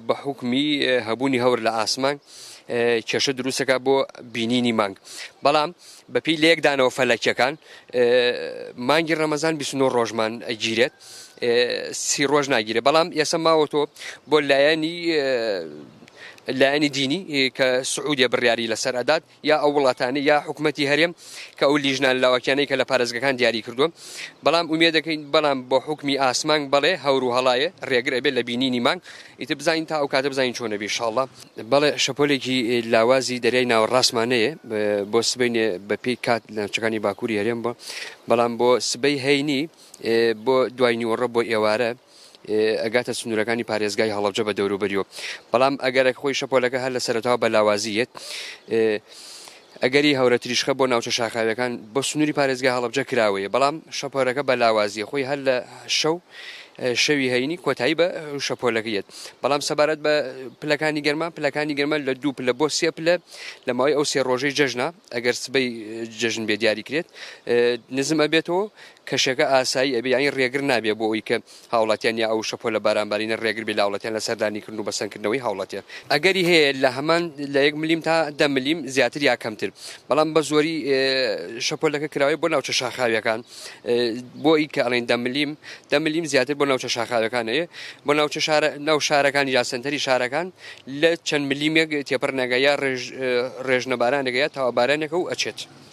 بە حوکمی هەبوونی هەور لە ئاسمان کێشە دروستەکە بۆ بینینی مانگ، بەڵام بەپێی لەیەکدانەوە فەلەکیەکان مانگی ڕەمەزان 29 ڕۆژمان ئەگیرێت، 30 ڕۆژ ناگیرێت. بەڵام ئێستا ماوەتەوە بۆ لایەنی دینی کە سعودیە بڕیاری لەسەر ئەدات، یا ئەو وڵاتانەی یا حکومەتی هەرێم کە ئەو لیژنە لاوەکیانەی کە لە پارێزگەکان دیاری کردووە. بەڵام ئومێد دەکەین، بەڵام بۆ حوکمی ئاسمان بەڵێ هەور و هەڵایە ڕێگر ئەبێت لە بینینی مانگ، ئیتر بزانین تا ئەو کاتە بزانین چۆن ئەبێ ئینشاڵڵا. بەڵێ شەپۆلێکی لاوازی دەریای ناوەڕاستمان هەیە بۆ سبەینێ بە پێی کات لە ناوچەکانی باکووری هەرێم بۆ، بەڵام بۆ سبەی هەینی بۆ دوای نیوەڕۆ بۆ ئێوارە ئەگاتە سنوورەکانی پارێزگای هەڵەبجە بە دەوروبەریەوە. بەڵام ئەگەرەک خۆی شەپۆلەکە هەر لە سەرەتاوە بە لاوازی یەت، ئەگەری هەورە تریشقە بۆ ناوچە شاخاویەکان بۆ سنووری پارێزگای هەڵەبجە کراوەیە، بەڵام شەپۆلەکە بە لاوازیە خۆی هەر لە شەو شەوی هەینی کۆتایی بە شەپۆلەکە یەت. بەڵام سەبارەت بە پلەکانی گەرما، پلەکانی گەرما لە 2 پلە بۆ 3 پلە لە ماوەی ئەو 3 ڕۆژەی جەژنە، ئەگەر سبەی جەژن بێ دیاری کرێت نزم ئەبێتەوە، کەشەکە ئاسایی ئەبێ، یانی ڕێگر نابێ بۆ ئەوی کە هاوڵاتیان یا ئەو شەپۆلە بارانبارینە ڕێگر بێ لە هاوڵاتیان لە سەردانیکردن و بەسەنکردنەوەی هاوڵاتیان. ئەگەری هەیە لە هەمان لە 1 ملیم تا 10 ملیم زیاتر یا کەمتر، بەڵام بە زۆری شەپۆلەکە کراوەیە بۆ ناوچە شاخاویەکان، بۆ ئی کە ئەڵێن 10 ملیم، 10 ملیم زیاتر بۆ ناوچە شاخاویەکان هەیە، بۆ ناوچە شارە، ناو شارەکان یا سەنتەری شارەکان لە چەند ملیمێک تێپەڕ ناگە یا ڕێژنە بارانێکە یا تاوابارانێکە و ئەچێت.